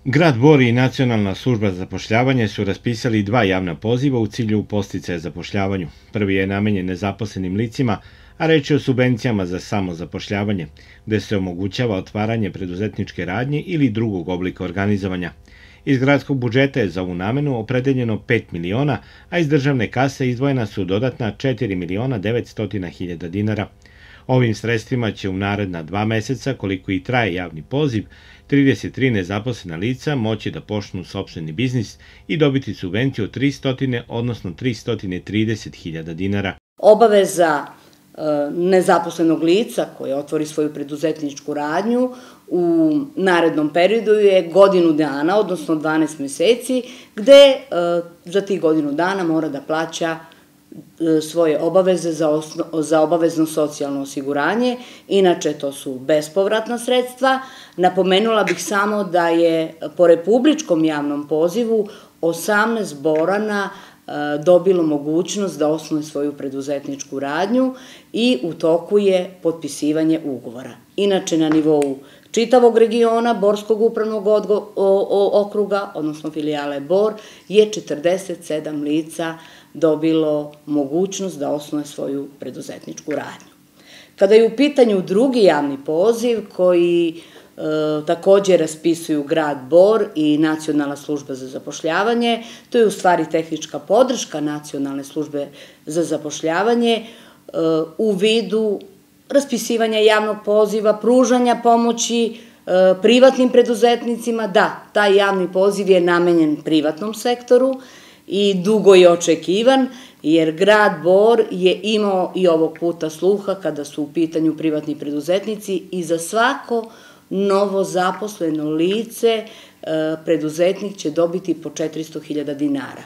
Grad Bor i Nacionalna služba za zapošljavanje su raspisali 2 javna poziva u cilju podsticaja zapošljavanju. Prvi je namenjen nezaposlenim licima, a reč je o subvencijama za samozapošljavanje, gde se omogućava otvaranje preduzetničke radnje ili drugog oblika organizovanja. Iz gradskog budžeta je za ovu namenu opredeljeno 5 miliona, a iz državne kase izdvojena su dodatna 4.900.000 dinara. Ovim sredstvima će u naredna 2 meseca, koliko i traje javni poziv, 33 nezaposlena lica moći da počnu sopstveni biznis i dobiti subvenciju od 300, odnosno 330.000 dinara. Obaveza nezaposlenog lica koje otvori svoju preduzetničku radnju u narednom periodu je godinu dana, odnosno 12 meseci, gde za tih godinu dana mora da plaća svoje obaveze za obavezno socijalno osiguranje. Inače, to su bespovratna sredstva. Napomenula bih samo da je po republičkom javnom pozivu 18 Borana dobilo mogućnost da osnuje svoju preduzetničku radnju i u toku je potpisivanje ugovora. Inače, na nivou čitavog regiona Borskog upravnog okruga, odnosno filijale Bor, je 47 lica dobilo mogućnost da osnuje svoju preduzetničku radnju. Kada je u pitanju drugi javni poziv koji takođe raspisuju grad Bor i Nacionalna služba za zapošljavanje, to je u stvari tehnička podrška Nacionalne službe za zapošljavanje u vidu raspisivanja javnog poziva, pružanja pomoći privatnim preduzetnicima. Da, taj javni poziv je namenjen privatnom sektoru i dugo je očekivan, jer grad Bor je imao i ovog puta sluha kada su u pitanju privatni preduzetnici i za svako novo zaposleno lice preduzetnik će dobiti po 400.000 dinara.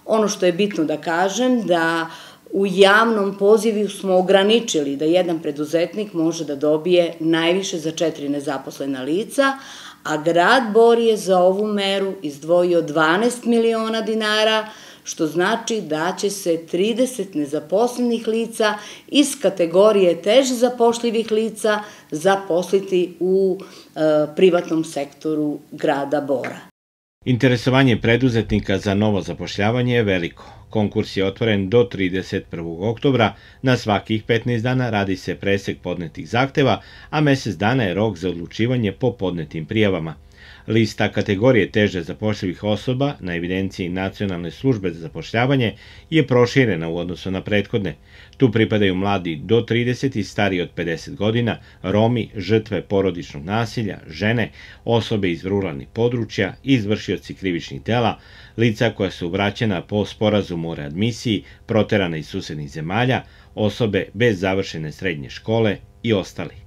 Ono što je bitno da kažem da u javnom pozivu smo ograničili da jedan preduzetnik može da dobije najviše za 4 nezaposlena lica, a grad Bor je za ovu meru izdvojio 12 miliona dinara, što znači da će se 30 nezaposlenih lica iz kategorije teže zapošljivih lica zaposliti u privatnom sektoru grada Bora. Interesovanje preduzetnika za novo zapošljavanje je veliko. Konkurs je otvoren do 31. oktobra, na svakih 15 dana radi se presek podnetih zahteva, a mesec dana je rok za odlučivanje po podnetim prijavama. Lista kategorije teže zapošljivih osoba na evidenciji Nacionalne službe za zapošljavanje je proširena u odnosu na prethodne. Tu pripadaju mladi do 30 i stariji od 50 godina, Romi, žrtve porodičnog nasilja, žene, osobe iz ruralnih područja, izvršioci krivičnih dela, lica koja su vraćena po sporazumu o readmisiji, proterana iz susednih zemalja, osobe bez završene srednje škole i ostali.